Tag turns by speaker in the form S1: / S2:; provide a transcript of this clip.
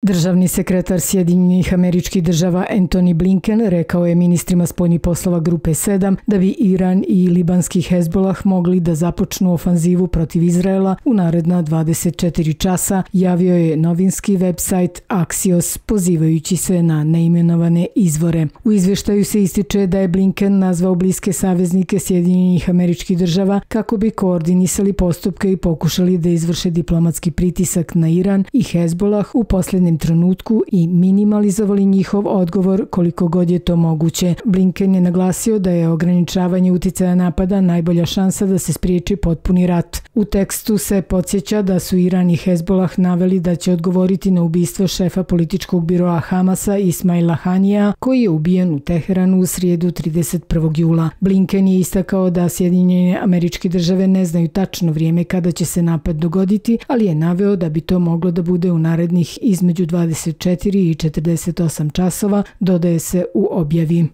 S1: Državni sekretar Sjedinjenih Američkih Država Antony Blinken rekao je ministrima spoljnih poslova Grupe 7 da bi Iran i libanski Hezbolah mogli da započnu ofanzivu protiv Izraela u naredna 24 časa, javio je novinski website Axios pozivajući se na neimenovane izvore. U izveštaju se ističe da je Blinken nazvao bliske saveznike Sjedinjenih Američkih Država kako bi koordinisali postupke i pokušali da izvrše diplomatski pritisak na Iran i Hezbolah u poslednjem trenutku i minimalizovali njihov odgovor koliko god je to moguće. Blinken je naglasio da je ograničavanje uticaja napada najbolja šansa da se spriječi potpuni rat. U tekstu se podsjeća da su Iran i Hezbolah naveli da će odgovoriti na ubistvo šefa političkog biroa Hamasa Ismaila Hanija, koji je ubijen u Teheranu u srijedu 31. jula. Blinken je istakao da Sjedinjene Američke Države ne znaju tačno vrijeme kada će se napad dogoditi, ali je naveo da bi to moglo da bude u narednih između 24 i 48 časova, dodaje se u objavi.